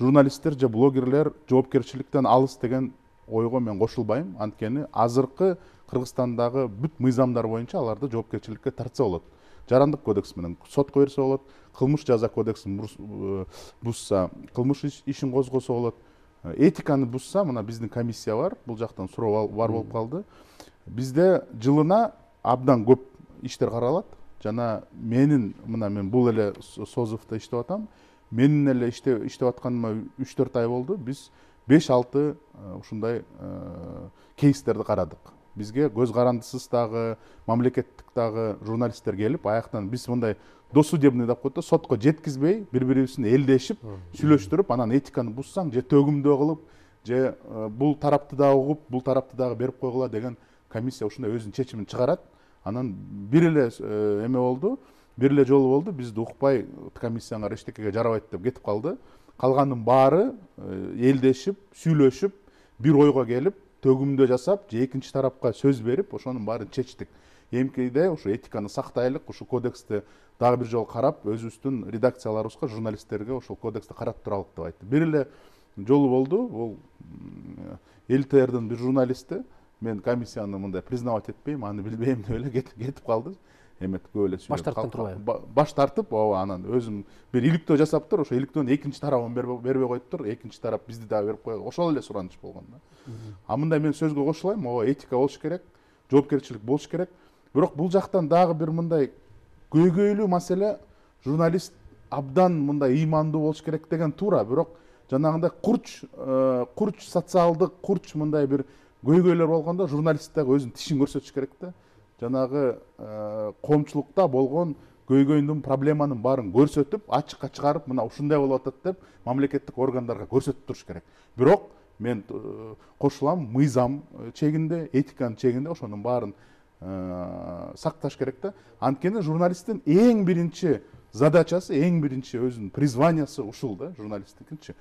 журналисттер же блогерлер жоопкерчиликтен алыс деген ойго мен кошулбайм. Анткени азыркы Кыргызстандагы бүт мыйзамдар боюнча аларды жоопкерчиликке тартса болот. Жарандык кодекс менен сотко берсе болот, кылмыш жаза кодексин бузса кылмыш ишин козгосо болот. Этиканы бузса, мына биздин комиссия бар, бул жактан суроо бар болуп калды. Бизде жылына абдан көп иштер каралат. Жана мен бул эле Созовдо иштеп атам. Менин эле иштеп атканыма 3-4 ай болду. Биз 5-6 ушундай кейстерди карадык. Бизге көз карандысыз дагы, мамлекеттик дагы журналисттер келип, аяктан биз мындай досудебный деп коет да, сотко жеткизбей, бири-бирибиздин элдешип, сүйлөштүрүп, анан этиканы бузсаң, же төгүмдөө кылып, же бул тарапты дагы угуп, бул тарапты дагы берип койгула деген комиссия ушундай өзүнүн чечимин чыгарат. Анан бир эле эме болду, бир эле жолу болду, бизди укпай комиссияңар эчтекеге жарабайт деп кетип калды. Калганын баары элдешип, сүйлөшүп, бир ойго келип, төгүмдөө жасап, же экинчи тарапка сөз берип, ошонун баарын чечтик. Эмкиде ушу этиканы сактайлык, ушу кодексти дагы бир жолу карап, өзүбүздүн редакцияларыбызга, журналисттерге ошол кодексти карап туралык деп айтты. Бир эле жолу болду, бул ЛТРдин бир журналисти, мен комиссияны мындай признавать этпейм, аны билбейм деп эле кетип калды. Эмет көп эле баш тарттан турбайбы? Баш тартып, анан өзүм бир иликтөө жасаптыр, ошо иликтөөнүн экинчи тарабын бербей коюптур, экинчи тарап бизди дагы берип койгон. Ошол эле сураныч болгон да. А мындай мен сөзгө кошулайм, этика болуш керек, жоопкерчилик болуш керек. Бирок бул жактан дагы бир мындай көйгөйлүү маселе, журналист абдан мындай ыймандуу болуш керек деген туура, бирок жанагындай курч социалдык, курч мындай бир көйгөйлөр болгондо журналист дагы өзүнүн тишин көрсөтүш керек да. Жанагы коомчулукта болгон көйгөйдүн, проблеманын баарын көрсөтүп, ачыкка чыгарып, мына ушундай болуп атат деп мамлекеттик органдарга көрсөтүп туруш керек. Бирок мен кошулам, мыйзам чегинде, этиканын чегинде ошонун баарын сакташ керек да. Анткени журналисттин эң биринчи задачасы, эң биринчи өзүнүн призваниясы ушул да, журналисттикинчи.